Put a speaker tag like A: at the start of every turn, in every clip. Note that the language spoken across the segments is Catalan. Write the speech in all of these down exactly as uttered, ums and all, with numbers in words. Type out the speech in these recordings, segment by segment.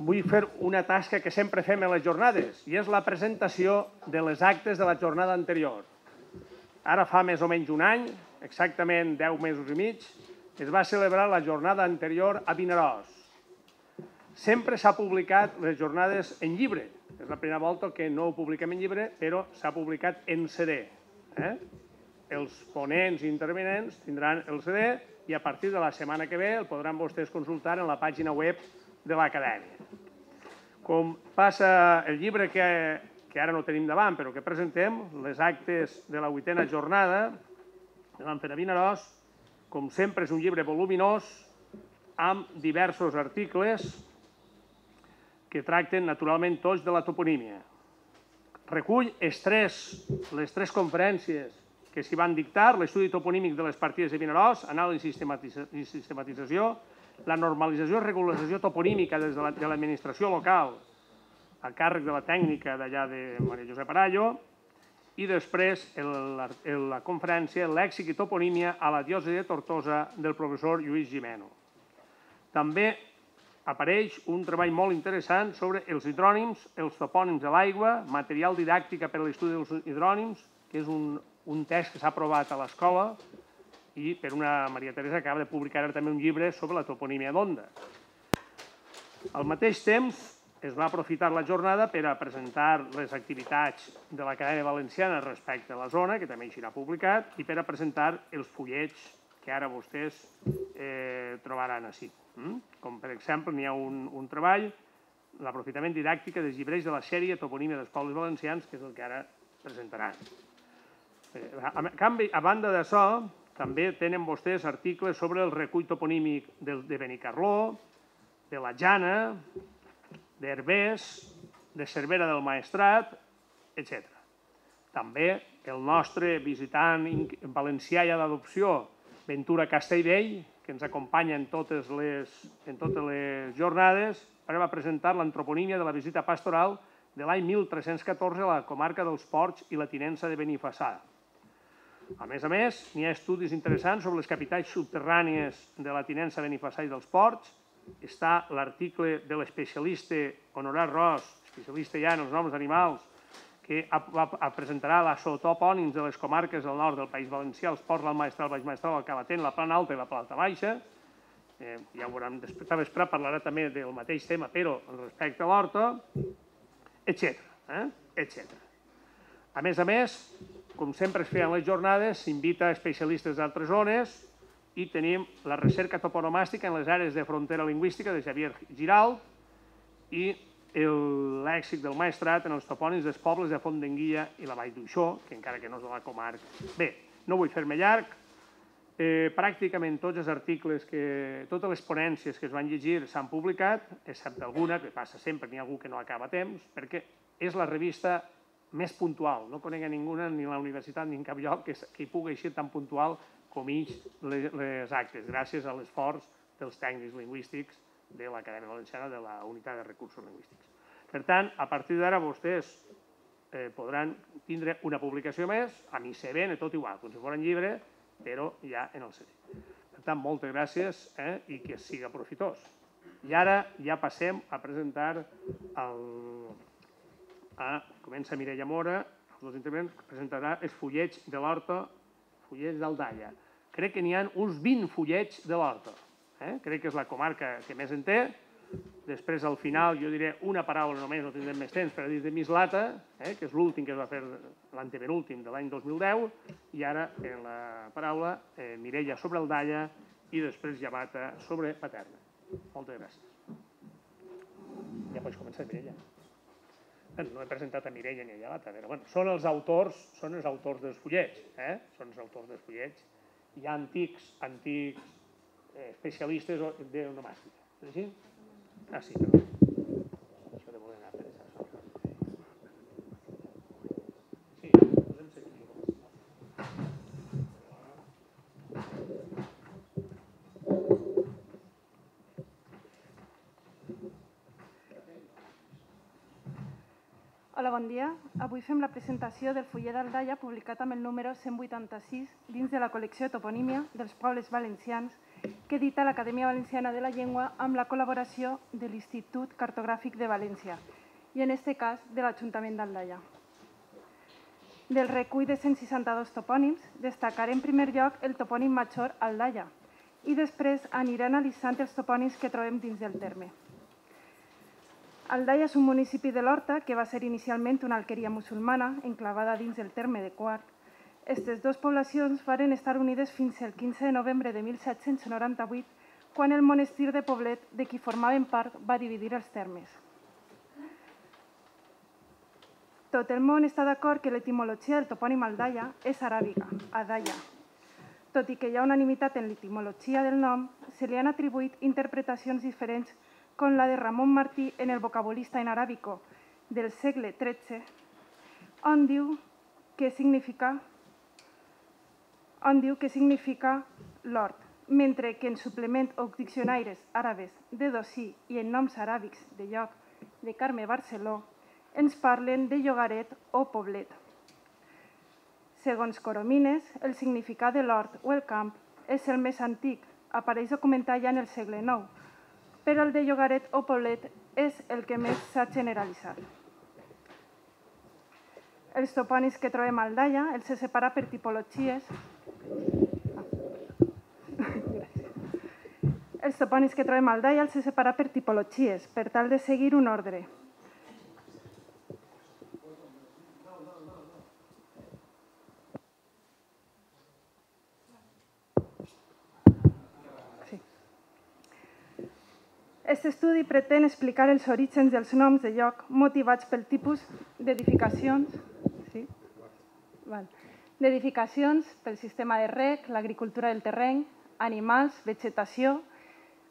A: vull fer una tasca que sempre fem a les jornades, i és la presentació de les actes de la jornada anterior. Ara fa més o menys un any, exactament deu mesos i mig, es va celebrar la jornada anterior a Vinaròs. Sempre s'ha publicat les jornades en llibre. És la primera volta que no ho publiquem en llibre, però s'ha publicat en C D. Els ponents i intervenents tindran el C D i a partir de la setmana que ve el podran vostès consultar en la pàgina web de l'acadèmia. Com passa el llibre que ara no tenim davant, però que presentem, les actes de la vuitena jornada que vam fer a Vinaròs, com sempre és un llibre voluminós amb diversos articles que tracten naturalment tots de la toponímia. Recull les tres conferències que s'hi van dictar, l'estudi toponímic de les partides de Vinaròs, anàlisi i sistematització, la normalització i regularització toponímica des de l'administració local a càrrec de la tècnica d'allà de Maria Josep Arallo i després la conferència Lèxic i toponímia a la diòcesi de Tortosa del professor Lluís Gimeno. També apareix un treball molt interessant sobre els hidrònims, els topònims de l'aigua, material didàctica per a l'estudi dels hidrònims, que és un text que s'ha aprovat a l'escola i per una Maria Teresa acaba de publicar també un llibre sobre la toponímia d'Onda. Al mateix temps es va aprofitar la jornada per a presentar les activitats de l'Acadèmia Valenciana respecte a la zona, que també així l'ha publicat, i per a presentar els fullets que ara vostès trobaran així. Com per exemple n'hi ha un treball, l'aprofitament didàctic dels llibres de la sèrie Toponímia dels pobles valencians, que és el que ara presentaran. A banda d'això, també tenen vostès articles sobre el recull toponímic de Benicarló, de la Jana, d'Herbers, de Cervera del Maestrat, etcètera. També el nostre visitant valencià i d'adopció, Ventura Castellvell, que ens acompanya en totes les jornades, va presentar l'antroponímia de la visita pastoral de l'any mil tres-cents catorze a la comarca dels Ports i la tinença de Benifassà. A més a més, n'hi ha estudis interessants sobre les capitals subterrànies de la tinença de Benifassà i dels Ports. Està l'article de l'especialista Honorat Ros, especialista ja en els noms d'animals, que presentarà la zootopònims de les comarques del nord del País Valencià, els Ports, l'Alt Maestrat, el Baix Maestrat, el Calatent, la Plana Alta i la Plana Baixa. Ja ho veurem després, després parlarà també del mateix tema, però respecte a l'horta, etcètera. A més a més, com sempre es feien les jornades, s'invita especialistes d'altres zones i tenim la recerca toponomàstica en les àrees de frontera lingüística de Xavier Giralt i el lèxic del Maestrat en els topònims dels pobles de Font d'Enguia i la Vall d'Uixó, que encara que no és de la comarca. Bé, no vull fer-me llarg, pràcticament tots els articles, totes les ponències que es van llegir s'han publicat, excepte alguna, que passa sempre, n'hi ha algú que no acaba a temps, perquè és la revista més puntual. No conec a ningú, ni a la universitat ni en cap lloc, que hi pugui ser tan puntual com ells les actes, gràcies a l'esforç dels tècnics lingüístics de l'Acadèmia Valenciana de la Unitat de Recursos Lingüístics. Per tant, a partir d'ara vostès podran tindre una publicació més, a mi se ven, tot igual, com si fos en llibre, però ja en el C D. Per tant, moltes gràcies i que sigui profitós. I ara ja passem a presentar el... Comença Mireia Mora, els dos intervents, presentarà els fullets de l'horta, fullets d'Aldaia. Crec que n'hi ha uns vint fullets de l'horta. Crec que és la comarca que més en té. Després, al final, jo diré una paraula només, no tindrem més temps, per a dir de Mislata, que és l'últim que es va fer, l'antepenúltim de l'any dos mil deu, i ara, en la paraula, Mireia sobre Aldaia i després Llavata sobre Paterna. Moltes gràcies. Ja pots començar, Mireia. No he presentat a Mireia ni a Llavata, però són els autors són els autors dels fullets. Són els autors dels fullets. Hi ha antics, antics especialistes d'onomàstica. És així? Ah, sí, perdó. Això de voler anar per això. Sí, podem seguir.
B: Hola, bon dia. Avui fem la presentació del fullet d'Aldaia publicat amb el número cent vuitanta-sis dins de la col·lecció Toponímia dels pobles valencians que edita l'Acadèmia Valenciana de la Llengua amb la col·laboració de l'Institut Cartogràfic de València i, en aquest cas, de l'Ajuntament d'Aldaia. Del recull de cent seixanta-dos topònims, destacaré en primer lloc el topònim major Aldaia i després aniré analitzant els topònims que trobem dins del terme. Aldaia és un municipi de l'Horta que va ser inicialment una alqueria musulmana enclavada dins el terme de Quart. Aquestes dues poblacions varen estar unides fins al quinze de novembre de mil set-cents noranta-vuit, quan el monestir de Poblet, de qui formaven part, va dividir els termes. Tot el món està d'acord que l'etimologia del topònim Aldaia és aràbiga, Adaia. Tot i que hi ha unanimitat en l'etimologia del nom, se li han atribuït interpretacions diferents com la de Ramon Martí en el vocabulista en aràbico del segle tretze, on diu que significa on diu que significa l'hort, mentre que en suplement o diccionaris àrabes de Dosí i en noms aràbics de lloc de Carme Barceló ens parlen de llogaret o poblet. Segons Coromines, el significat de l'hort o el camp és el més antic, apareix documentat ja en el segle nou, però el de llogaret o poblet és el que més s'ha generalitzat. Els topònims que trobem a Aldaia els he separat per tipologies. Els topònims que trobem a Aldaia els he separat per tipologies, per tal de seguir un ordre. Aquest estudi pretén explicar els orígens dels noms de lloc motivats pel tipus d'edificacions, sí? d'edificacions, pel sistema de reg, l'agricultura del terreny, animals, vegetació,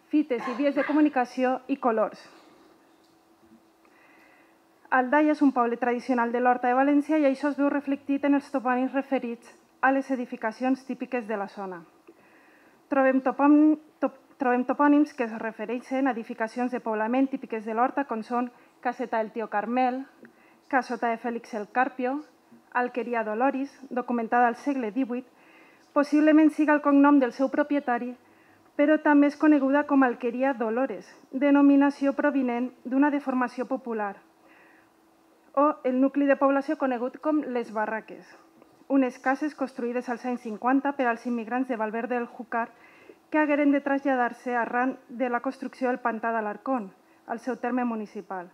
B: fites i vies de comunicació i colors. Aldaia és un poble tradicional de l'Horta de València i això es veu reflectit en els topònims referits a les edificacions típiques de la zona. Trobem topònims Trobem topònims que es refereixen a edificacions de poblament típiques de l'Horta, com són Caseta del Tio Carmel, Casota de Fèlix el Carpio, Alqueria Doloris, documentada al segle divuit, possiblement siga el cognom del seu propietari, però també és coneguda com Alqueria Dolores, denominació provinent d'una deformació popular, o el nucli de població conegut com les Barraques, unes cases construïdes als anys cinquanta per als immigrants de Valverde del Júcar que hagueren de traslladar-se arran de la construcció del Pantà d'Alarcón, al seu terme municipal.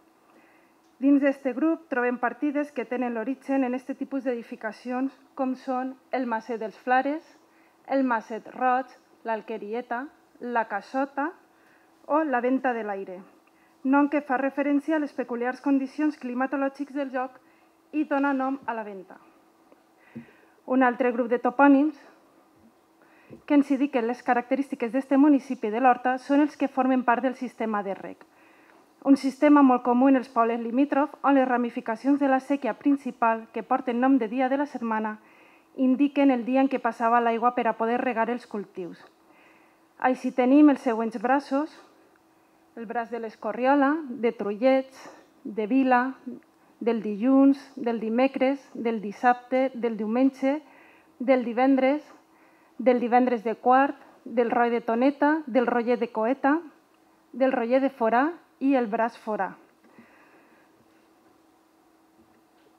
B: Dins d'aquest grup trobem partides que tenen l'origen en aquest tipus d'edificacions, com són el Maset dels Flares, el Maset Roig, l'Alquerieta, la Casota o la Venta de l'Aire, nom que fa referència a les peculiars condicions climatològiques del lloc i dona nom a la venta. Un altre grup de topònims que ens indiquen les característiques d'aquest municipi de l'Horta són els que formen part del sistema de reg. Un sistema molt comú en els pobles limítrofs on les ramificacions de la séquia principal, que porten nom de dia de la setmana, indiquen el dia en què passava l'aigua per a poder regar els cultius. Així tenim els següents braços, el braç de l'Escorriola, de Trullets, de Vila, del dilluns, del dimecres, del dissabte, del diumenge, del divendres, del divendres de Quart, del Roi de Toneta, del Roller de Coeta, del Roller de Forà i el Braç Forà.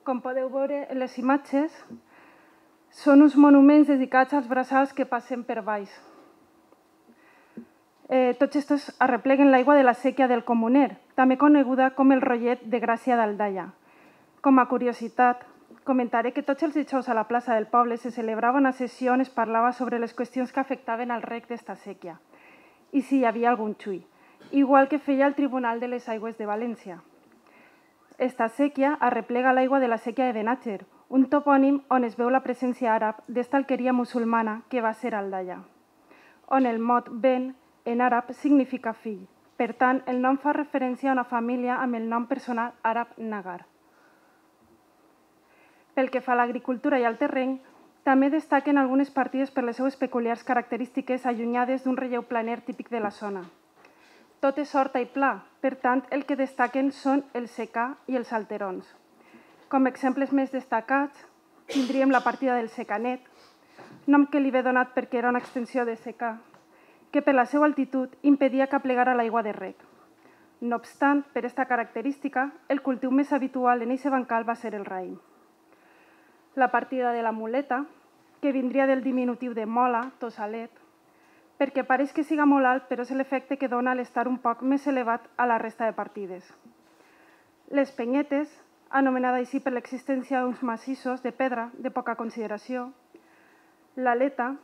B: Com podeu veure en les imatges, són uns monuments dedicats als braçals que passen per baix. Eh, tots estos arrepleguen l'aigua de la séquia del Comuner, també coneguda com el Rollet de Gràcia d'Aldaia. Com a curiositat, comentaré que tots els dijous a la plaça del poble se celebrava una sessió on es parlava sobre les qüestions que afectaven al reg d'esta séquia i si hi havia algun xui, igual que feia el Tribunal de les Aigües de València. Esta séquia arreplega l'aigua de la séquia de Benàger, un topònim on es veu la presència àrab d'esta alqueria musulmana que va ser Aldaia, on el mot ben en àrab significa fill. Per tant, el nom fa referència a una família amb el nom personal àrab Nagar. Pel que fa a l'agricultura i al terreny, també destaquen algunes partides per les seues peculiars característiques allunyades d'un relleu planer típic de la zona. Tot és horta i pla, per tant, el que destaquen són el secà i els alterons. Com exemples més destacats, tindríem la partida del Secanet, nom que li ve donat perquè era una extensió de secà, que per la seva altitud impedia que aplegara l'aigua de rec. No obstant, per aquesta característica, el cultiu més habitual en aquest bancal va ser el raïm. La partida de la muleta, que vindria del diminutiu de mola, tossalet, perquè pareix que siga molt alt, però és l'efecte que dona l'estar un poc més elevat a la resta de partides. Les penyetes, anomenada així per l'existència d'uns massissos de pedra de poca consideració. L'aleta,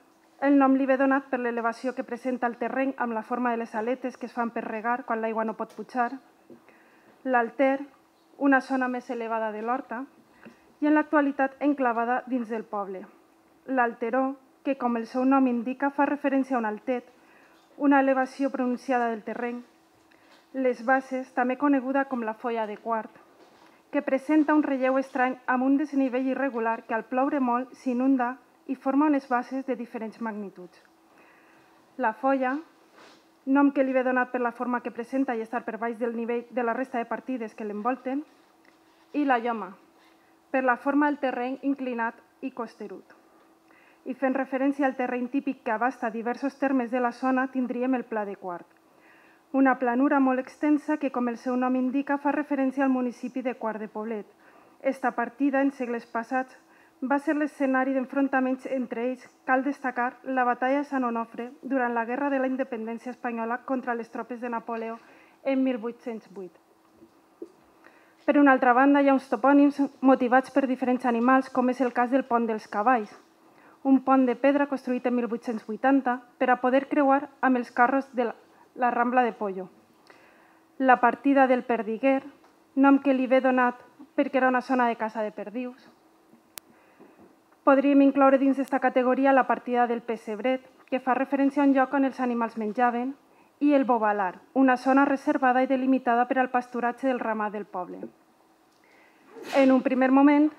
B: el nom li ve donat per l'elevació que presenta el terreny amb la forma de les aletes que es fan per regar quan l'aigua no pot pujar. L'alter, una zona més elevada de l'horta, i en l'actualitat enclavada dins del poble. L'alteró, que com el seu nom indica fa referència a un altet, una elevació pronunciada del terreny. Les bases, també coneguda com la folla de quart, que presenta un relleu estrany amb un desnivell irregular que al ploure molt s'inunda i forma unes bases de diferents magnituds. La folla, nom que li ve donat per la forma que presenta i estar per baix del nivell de la resta de partides que l'envolten, i la lloma, per la forma del terreny inclinat i costerut. I fent referència al terreny típic que abasta diversos termes de la zona, tindríem el Pla de Quart, una planura molt extensa que, com el seu nom indica, fa referència al municipi de Quart de Poblet. Esta partida, en segles passats, va ser l'escenari d'enfrontaments entre ells. Cal destacar la batalla de Sant Onofre durant la Guerra de la Independència Espanyola contra les tropes de Napoleó en mil vuit-cents vuit. Per una altra banda, hi ha uns topònims motivats per diferents animals, com és el cas del Pont dels Cavalls, un pont de pedra construït en mil vuit-cents vuitanta per a poder creuar amb els carros de la la Rambla de Pollo. La partida del Perdiguer, nom que li ve donat perquè era una zona de caça de perdius. Podríem incloure dins d'aquesta categoria la partida del Pessebret, que fa referència a un lloc on els animals menjaven, i el Bobalar, una zona reservada i delimitada per al pasturatge del ramat del poble. En un primer moment,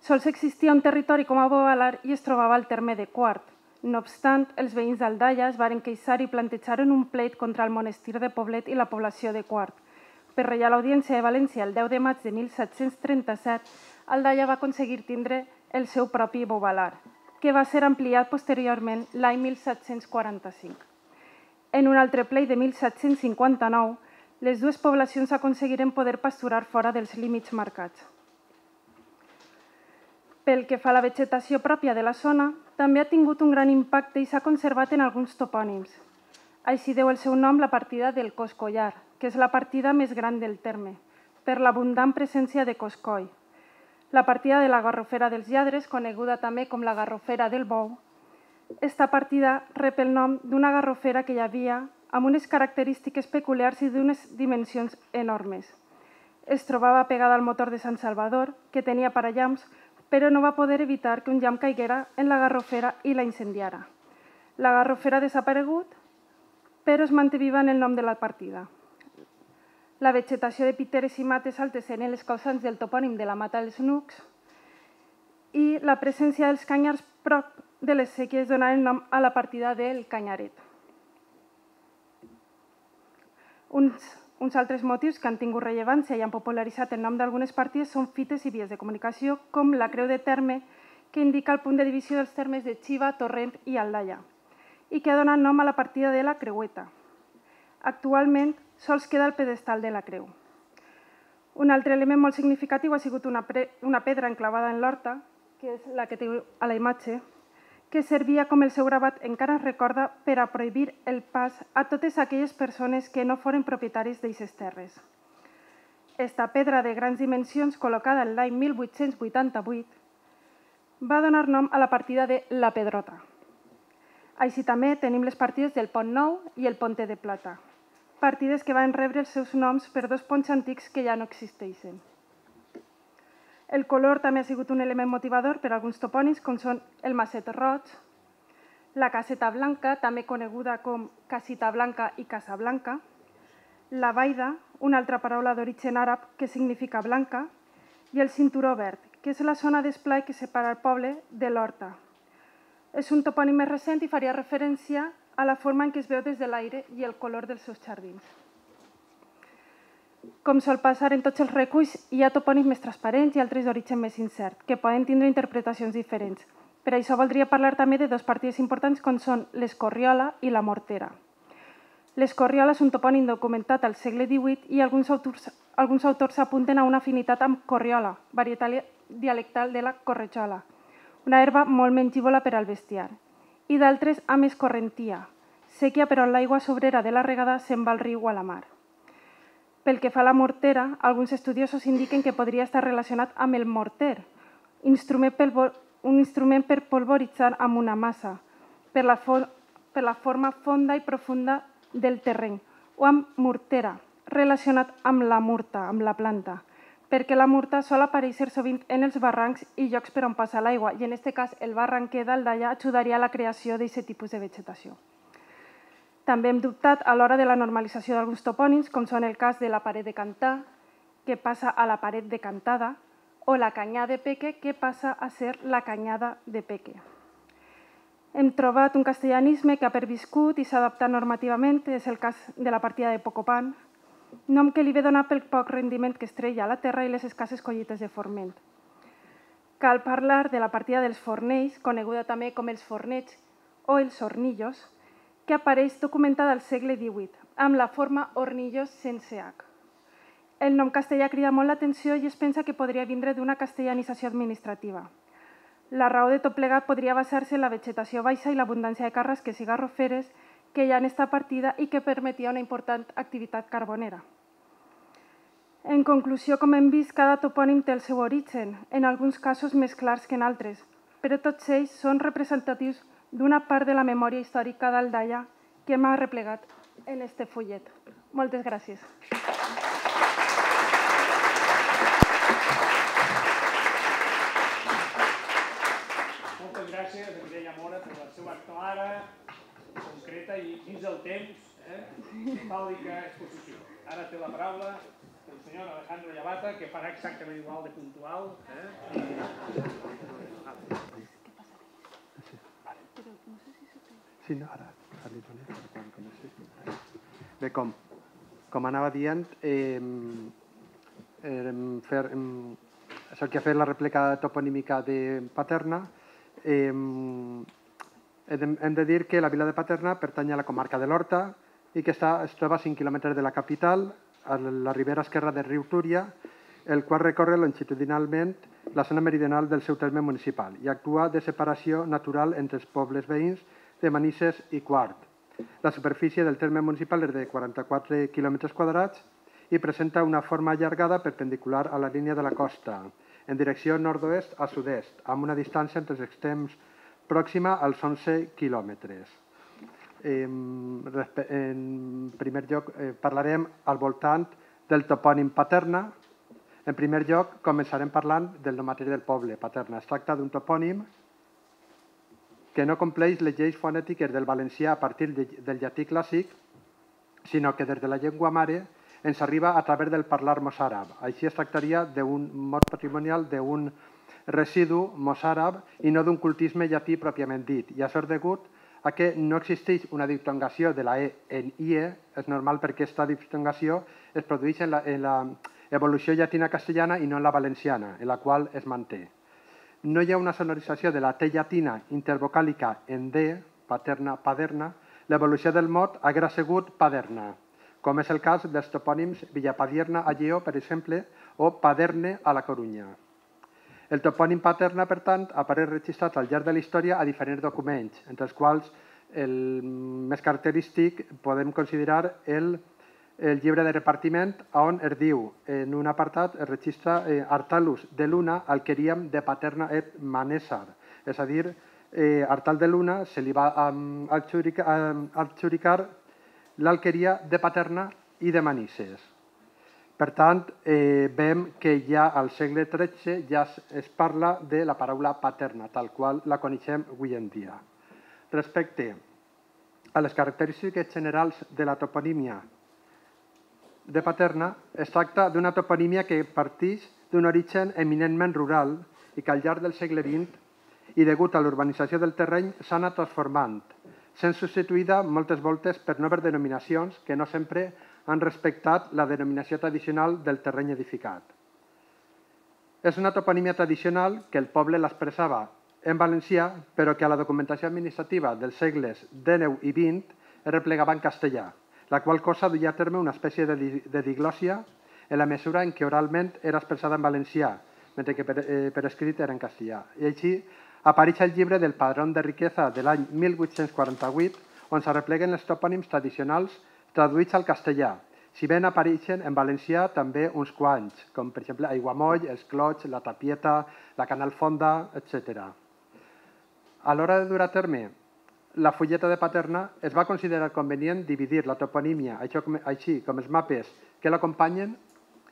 B: sols existia un territori com a Bobalar i es trobava al terme de Quart. No obstant, els veïns d'Aldaia es varen queixar i plantejaren un pleit contra el monestir de Poblet i la població de Quart. Per Reial Audiència de València, el deu de maig de mil set-cents trenta-set, Aldaia va aconseguir tindre el seu propi Bobalar, que va ser ampliat posteriorment l'any mil set-cents quaranta-cinc. En un altre pleit de mil set-cents cinquanta-nou, les dues poblacions aconseguiren poder pasturar fora dels límits marcats. Pel que fa a la vegetació pròpia de la zona, també ha tingut un gran impacte i s'ha conservat en alguns topònims. Així deu el seu nom la partida del Coscollar, que és la partida més gran del terme, per l'abundant presència de coscoll. La partida de la Garrofera dels Lladres, coneguda també com la Garrofera del Bou. Esta partida rep el nom d'una garrofera que hi havia amb unes característiques peculiars i d'unes dimensions enormes. Es trobava pegada al motor de Sant Salvador, que tenia parallamps, però no va poder evitar que un llamp caiguera en la garrofera i la incendiara. La garrofera ha desaparegut, però es manté viva en el nom de la partida. La vegetació de piteres i mates altes eren les causants del topònim de la Mata dels Nucs i la presència dels canyars prop de les séquies donaren nom a la partida del Canyaret. Uns Uns altres motius que han tingut rellevància i han popularitzat el nom d'algunes partides són fites i vies de comunicació, com la creu de terme, que indica el punt de divisió dels termes de Xiva, Torrent i Aldaia, i que ha donat nom a la partida de la Creueta. Actualment, sols queda el pedestal de la creu. Un altre element molt significatiu ha sigut una, una pedra enclavada en l'horta, que és la que té a la imatge, que servia, com el seu gravat encara es recorda, per a prohibir el pas a totes aquelles persones que no foren propietaris d'aquestes terres. Esta pedra de grans dimensions, col·locada l'any mil vuit-cents vuitanta-vuit, va donar nom a la partida de la Pedrota. Així també tenim les partides del Pont Nou i el Ponte de Plata, partides que van rebre els seus noms per dos ponts antics que ja no existeixen. El color també ha sigut un element motivador per a alguns topònims, com són el Maset Roig, la Caseta Blanca, també coneguda com Casita Blanca i Casa Blanca, la Baida, una altra paraula d'origen àrab que significa blanca, i el Cinturó Verd, que és la zona d'esplai que separa el poble de l'Horta. És un topònim més recent i faria referència a la forma en què es veu des de l'aire i el color dels seus jardins. Com sol passar en tots els reculls, hi ha topònims més transparents i altres d'origen més incert, que poden tindre interpretacions diferents. Per això voldria parlar també de dos partides importants com són l'Escorriola i la Mortera. L'Escorriola és un topònim documentat al segle divuit i alguns autors, alguns autors apunten a una afinitat amb corriola, varietat dialectal de la corretjola, una herba molt mengívola per al bestiar, i d'altres amb escorrentia, sèquia per on l'aigua sobrera de la regada se'n va al riu o a la mar. Pel que fa a la mortera, alguns estudiosos indiquen que podria estar relacionat amb el morter, instrument pel, un instrument per polvoritzar amb una massa, per la, for, per la forma fonda i profunda del terreny, o amb mortera, relacionat amb la murta, amb la planta, perquè la murta sol aparèixer sovint en els barrancs i llocs per on passa l'aigua, i en aquest cas el barranquer d'Aldaia ajudaria a la creació d'aquest tipus de vegetació. També hem dubtat a l'hora de la normalització d'alguns topònims, com són el cas de la paret de Cantà, que passa a la paret de Cantada, o la canyà de Peque, que passa a ser la canyada de Peque. Hem trobat un castellanisme que ha perviscut i s'ha adaptat normativament, és el cas de la partida de Pocopan, nom que li ve donar pel poc rendiment que es treia a la terra i les escasses collites de forment. Cal parlar de la partida dels fornells, coneguda també com els fornets o els hornillos, que apareix documentada al segle divuit, amb la forma hornillos sense H. El nom castellà crida molt l'atenció i es pensa que podria vindre d'una castellanització administrativa. La raó de tot plegat podria basar-se en la vegetació baixa i l'abundància de carrasques i garroferes que hi ha en aquesta partida i que permetia una important activitat carbonera. En conclusió, com hem vist, cada topònim té el seu origen, en alguns casos més clars que en altres, però tots ells són representatius d'una part de la memòria històrica d'Aldaia que m'ha replegat en este fullet. Moltes gràcies.
A: Moltes gràcies a Mireia Mora per la seva clara, concreta i dins del temps, metàl·lica exposició. Ara té la paraula el senyor Alejandro Llavata, que farà exactament igual de puntual.
C: Sí, no, ara. Bé, com, com anava dient, eh, eh, fer, eh, això que ha fet la rèplica toponímica de Paterna, eh, hem de dir que la vila de Paterna pertany a la comarca de l'Horta i que està, es troba a cinc quilòmetres de la capital, a la ribera esquerra del riu Túria, el qual recorre longitudinalment la zona meridional del seu terme municipal i actua de separació natural entre els pobles veïns de Manises i Quart. La superfície del terme municipal és de quaranta-quatre quilòmetres quadrats i presenta una forma allargada perpendicular a la línia de la costa, en direcció nord-oest a sud-est, amb una distància entre els extrems pròxima als onze quilòmetres. En primer lloc, parlarem al voltant del topònim Paterna. En primer lloc, començarem parlant del nom mateix del poble, Paterna. Es tracta d'un topònim que no compleix les lleis fonètiques del valencià a partir del llatí clàssic, sinó que des de la llengua mare ens arriba a través del parlar mossàrab. Així es tractaria d'un mot patrimonial d'un residu mossàrab i no d'un cultisme llatí pròpiament dit. I això és degut a que no existeix una diftongació de la E en IE, és normal perquè aquesta diftongació es produeix en l'evolució llatina castellana i no en la valenciana, en la qual es manté. No hi ha una sonorització de la T llatina intervocàlica en D, paterna, paderna, l'evolució del mot haguera sigut paderna, com és el cas dels topònims Villapadierna a Lleó, per exemple, o Paderne a la Corunya. El topònim Paterna, per tant, apareix registrat al llarg de la història a diferents documents, entre els quals el més característic podem considerar el el llibre de repartiment, on es diu, en un apartat, es registra eh, Artalus de Luna, alqueríem de Paterna et Manessar. És a dir, eh, Artal de Luna se li va um, adjudicar, um, adjudicar l'alqueria de Paterna i de Manises. Per tant, eh, veiem que ja al segle tretze ja es, es parla de la paraula paterna, tal qual la coneixem avui en dia. Respecte a les característiques generals de la toponímia de Paterna, es tracta d'una toponímia que parteix d'un origen eminentment rural i que al llarg del segle vint i degut a l'urbanització del terreny s'ha anat transformant, sent substituïda moltes voltes per noves denominacions que no sempre han respectat la denominació tradicional del terreny edificat. És una toponímia tradicional que el poble l'expressava en valencià, però que a la documentació administrativa dels segles dinou i vint es replegava en castellà, la qual cosa duia a terme una espècie de, di de diglòssia en la mesura en què oralment era expressada en valencià, mentre que per, eh, per escrit era en castellà. I així apareix el llibre del Padrón de Riqueza de l'any mil vuit-cents quaranta-vuit, on se repleguen els topònims tradicionals traduïts al castellà, si bé apareixen en valencià també uns quants, com per exemple Aiguamoll, els Clots, la Tapieta, la Canal Fonda, etcètera. A l'hora de dur a terme la fulleta de Paterna, es va considerar convenient dividir la toponímia, així com els mapes que l'acompanyen,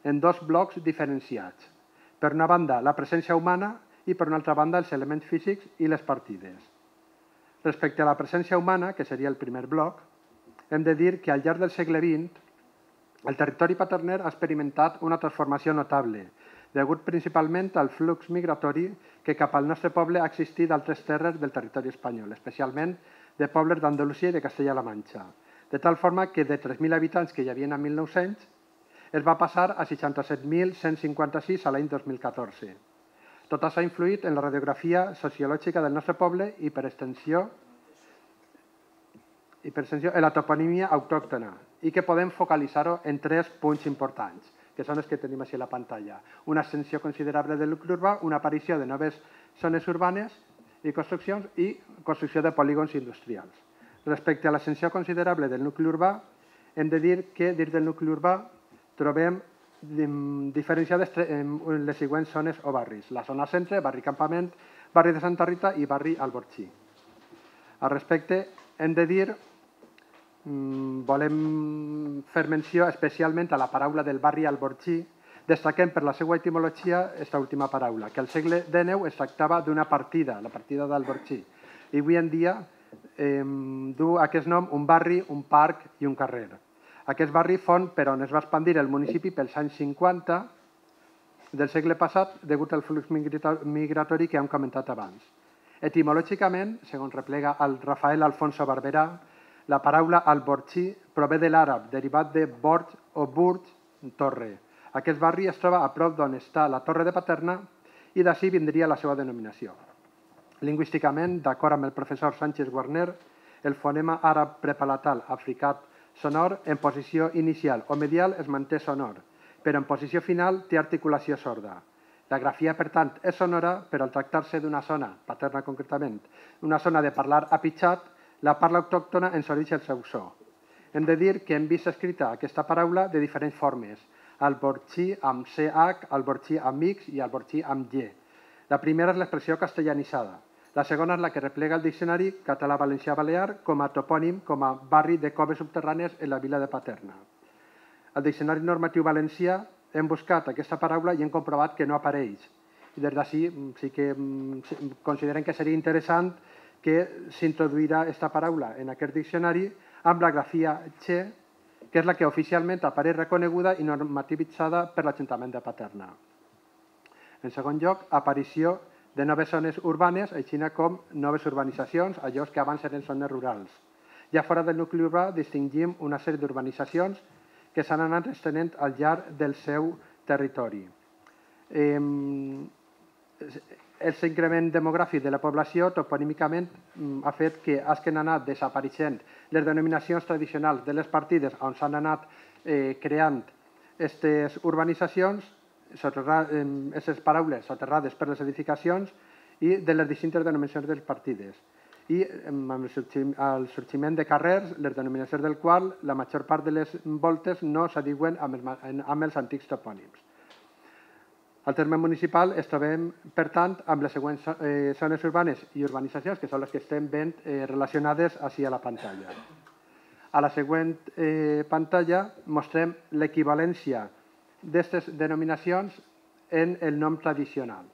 C: en dos blocs diferenciats. Per una banda, la presència humana i, per una altra banda, els elements físics i les partides. Respecte a la presència humana, que seria el primer bloc, hem de dir que al llarg del segle vint el territori paterner ha experimentat una transformació notable, degut principalment al flux migratori que cap al nostre poble ha existit d'altres terres del territori espanyol, especialment de pobles d'Andalusia i de Castella-La Manxa, de tal forma que de tres mil habitants que hi havia en mil nou-cents es va passar a seixanta-set mil cent cinquanta-sis a l'any dos mil catorze. Tot això ha influït en la radiografia sociològica del nostre poble i per extensió i per extensió en la toponímia autòctona, i que podem focalitzar-ho en tres punts importants, que són els que tenim així a la pantalla. Una extensió considerable del nucli urbà, una aparició de noves zones urbanes i construccions i construcció de polígons industrials. Respecte a l'extensió considerable del nucli urbà, hem de dir que dins del nucli urbà trobem diferenciades les següents zones o barris. La zona centre, barri Campament, barri de Santa Rita i barri Alborxí. Al respecte, hem de dir volem fer menció especialment a la paraula del barri Alborxí, destaquem per la seva etimologia aquesta última paraula, que al segle dinou es tractava d'una partida, la partida d'Alborxí, i avui en dia eh, du aquest nom un barri, un parc i un carrer. Aquest barri fon per on es va expandir el municipi pels anys cinquanta del segle passat degut al flux migratori que hem comentat abans. Etimològicament, segons replega el Rafael Alfonso Barberà, la paraula Alborxí prové de l'àrab, derivat de Borj o Burj, torre. Aquest barri es troba a prop d'on està la Torre de Paterna i d'ací vindria la seva denominació. Lingüísticament, d'acord amb el professor Sánchez Guarner, el fonema àrab prepalatal africat sonor en posició inicial o medial es manté sonor, però en posició final té articulació sorda. La grafia, per tant, és sonora, però al tractar-se d'una zona, Paterna concretament, una zona de parlar apitxat, la parla autòctona ens oreix el seu so. Hem de dir que hem vist escrita aquesta paraula de diferents formes, Alborxí amb C H, Alborxí amb X i Alborxí amb Y. La primera és l'expressió castellanitzada. La segona és la que replega el diccionari català-valencià-balear com a topònim, com a barri de coves subterrànies en la vila de Paterna. Al diccionari normatiu valencià hem buscat aquesta paraula i hem comprovat que no apareix. I des d'ací sí que considerem que seria interessant que s'introduirà aquesta paraula en aquest diccionari amb la grafia Che, que és la que oficialment apareix reconeguda i normativitzada per l'Ajuntament de Paterna. En segon lloc, aparició de noves zones urbanes, així com noves urbanitzacions, allò que abans eren zones rurals. Ja fora del nucli urbà distingim una sèrie d'urbanitzacions que s'han anat estenent al llarg del seu territori. L'increment demogràfic de la població toponímicament ha fet que hagin anat desapareixent les denominacions tradicionals de les partides on s'han anat creant aquestes urbanitzacions, aquestes paraules soterrades per les edificacions i de les distintes denominacions de les partides. I amb el sorgiment de carrers, les denominacions del qual la major part de les voltes no s'adiuen amb els antics topònims. Al terme municipal es trobem, per tant, amb les següents zones urbanes i urbanitzacions, que són les que estem veient relacionades així a la pantalla. A la següent pantalla mostrem l'equivalència d'aquestes denominacions en el nom tradicional.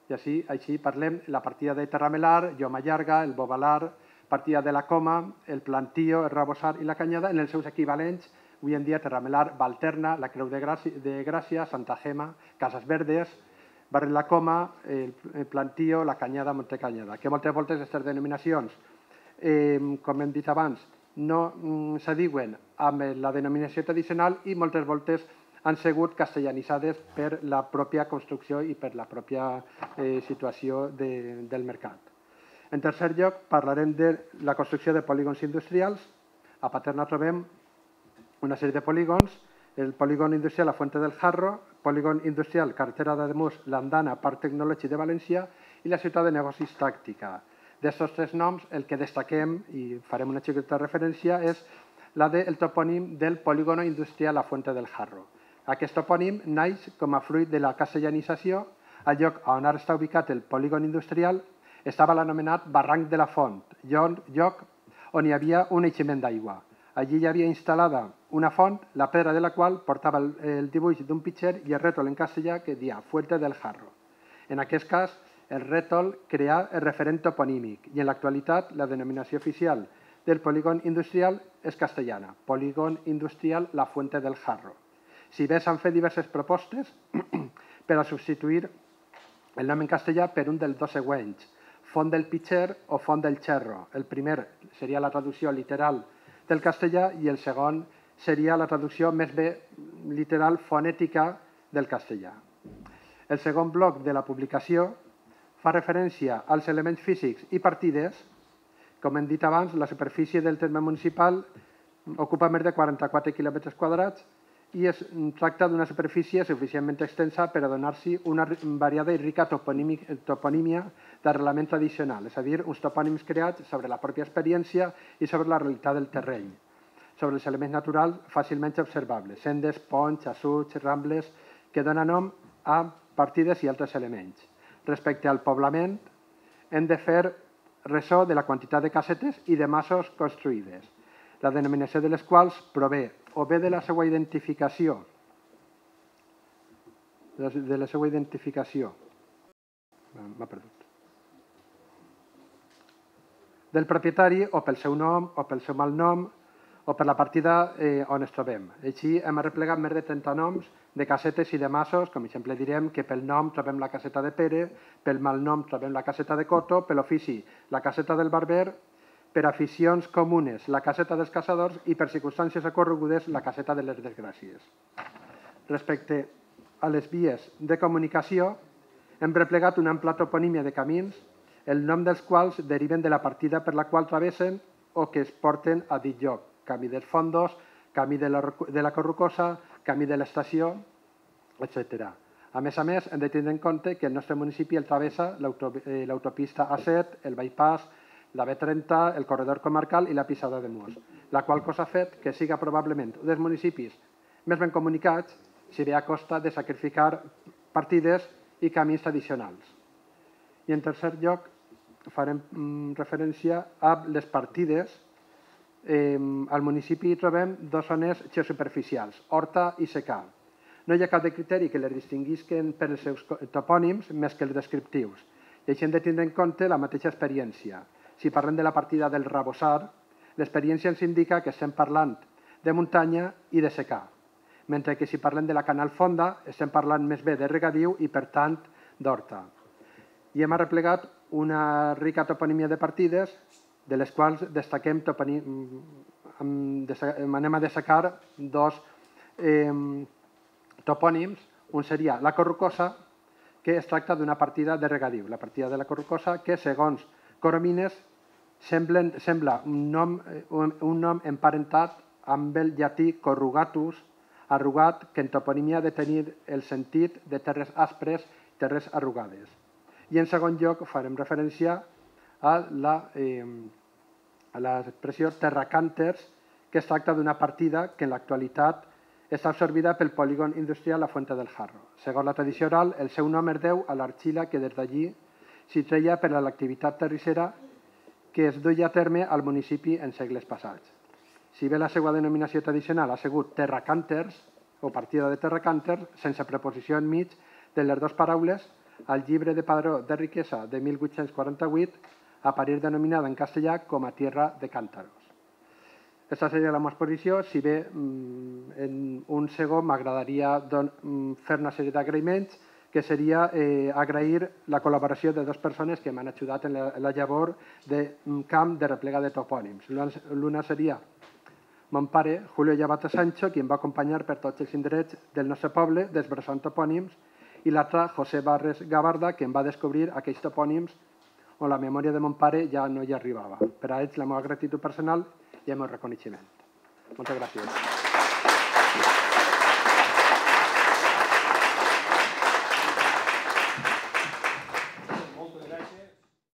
C: I així, així parlem la partida de Terramelar, Lloma Llarga, el Bobalar, partida de la Coma, el Plantío, el Rabossar i la Canyada, en els seus equivalents, avui en dia Terramelar, Valterna, la Creu de Gràcia, Santa Gema, Cases Verdes, barri la Coma, el Plantío, la Canyada, Montecanyada, que moltes voltes aquestes denominacions, com hem dit abans, no s'adiuen amb la denominació tradicional i moltes voltes han sigut castellanitzades per la pròpia construcció i per la pròpia eh, situació de, del mercat. En tercer lloc, parlarem de la construcció de polígons industrials. A Paterna trobem una sèrie de polígons, el polígon industrial La Fuente del Jarro, polígon industrial Carretera d'Ademús, l'Andana, Parc Tecnològic de València i la ciutat de negocis Tàctica. D'estos tres noms, el que destaquem, i farem una xiqueta referència, és la del topònim del polígon industrial La Fuente del Jarro. Aquest topònim naix com a fruit de la castellanització. Al lloc on ara està ubicat el polígon industrial estava l'anomenat Barranc de la Font, lloc on hi havia un eiximent d'aigua. Allí hi havia instal·lada una font, la pedra de la qual portava el, el dibuix d'un pitxer i el rètol en castellà que dia Fuente del Jarro. En aquest cas, el rètol crea el referent toponímic i en l'actualitat la denominació oficial del polígon industrial és castellana, polígon industrial La Fuente del Jarro. Si bé s'han fet diverses propostes per a substituir el nom en castellà per un dels dos següents, font del pitxer o font del xerro. El primer seria la traducció literal del castellà i el segon seria la traducció més bé literal fonètica del castellà. El segon bloc de la publicació fa referència als elements físics i partides. Com hem dit abans, la superfície del terme municipal ocupa més de quaranta-quatre quilòmetres quadrats i es tracta d'una superfície suficientment extensa per a donar-s'hi una variada i rica toponímia d'arrelament tradicional, és a dir, uns topònims creats sobre la pròpia experiència i sobre la realitat del terreny, sobre els elements naturals fàcilment observables, sendes, ponts, assuts, rambles, que donen nom a partides i altres elements. Respecte al poblament, hem de fer ressò de la quantitat de casetes i de masos construïdes, la denominació de les quals prové o bé de la seva identificació, de la seva identificació, m'ha perdut, del propietari o pel seu nom o pel seu malnom o per la partida eh, on es trobem. Així hem arreplegat més de trenta noms de casetes i de masos, com exemple direm que pel nom trobem la caseta de Pere, pel malnom trobem la caseta de Coto, per l'ofici la caseta del barber, per aficions comunes la caseta dels caçadors i per circumstàncies ocorregudes la caseta de les desgràcies. Respecte a les vies de comunicació, hem replegat una ampla toponímia de camins, el nom dels quals deriven de la partida per la qual travessen o que es porten a dit lloc. Camí dels Fondos, camí de la, de la Corrucosa, camí de l'estació, etcètera. A més a més, hem de tenir en compte que el nostre municipi el travessa l'autopista A set, el bypass, la B trenta, el corredor comarcal i la Pisada de Mos, la qual cosa ha fet que siga probablement un dels municipis més ben comunicats, si bé a costa de sacrificar partides i camins tradicionals. I en tercer lloc, farem referència a les partides. Al municipi trobem dues zones geosuperficials, horta i secà. No hi ha cap de criteri que les distinguisquen per els seus topònims més que els descriptius. I així hem de tindre en compte la mateixa experiència. Si parlem de la partida del Rabossar, l'experiència ens indica que estem parlant de muntanya i de secà, mentre que si parlem de la Canal Fonda estem parlant més bé de regadiu i, per tant, d'horta. I hem arreplegat una rica toponímia de partides, de les quals destaquem anem a destacar dos topònims. Un seria la Corrucosa, que es tracta d'una partida de regadiu. La partida de la Corrucosa, que segons Coromines sembla un nom emparentat amb el llatí corrugatus, arrugat, que en toponímia ha de tenir el sentit de terres aspres, terres arrugades. I en segon lloc farem referència a l'expressió terracànters, que es tracta d'una partida que en l'actualitat està absorbida pel polígon industrial La Fuente del Jarro. Segons la tradició oral, el seu nom es deu a l'argila que des d'allí s'hi treia per a l'activitat terrissera que es duia a terme al municipi en segles passats. Si bé la seva denominació tradicional ha sigut terracànters o partida de terracànters, sense preposició enmig de les dues paraules, al llibre de padró de riquesa de mil vuit-cents quaranta-vuit apareix denominada en castellà com a tierra de càntaros. Aquesta seria la meva exposició. Si bé en un segon m'agradaria fer una sèrie d'agraïments, que seria agrair la col·laboració de dues persones que m'han ajudat en la llavor de camp de replega de topònims. L'una seria mon pare, Julio Llavato Sancho, qui em va acompanyar per tots els indrets del nostre poble, desbrossant topònims, i l'altre, José Barres Gabarda, que em va descobrir aquells topònims on la memòria de mon pare ja no hi arribava. Per a ells, la meva gratitud personal i el meu reconeixement. Moltes gràcies.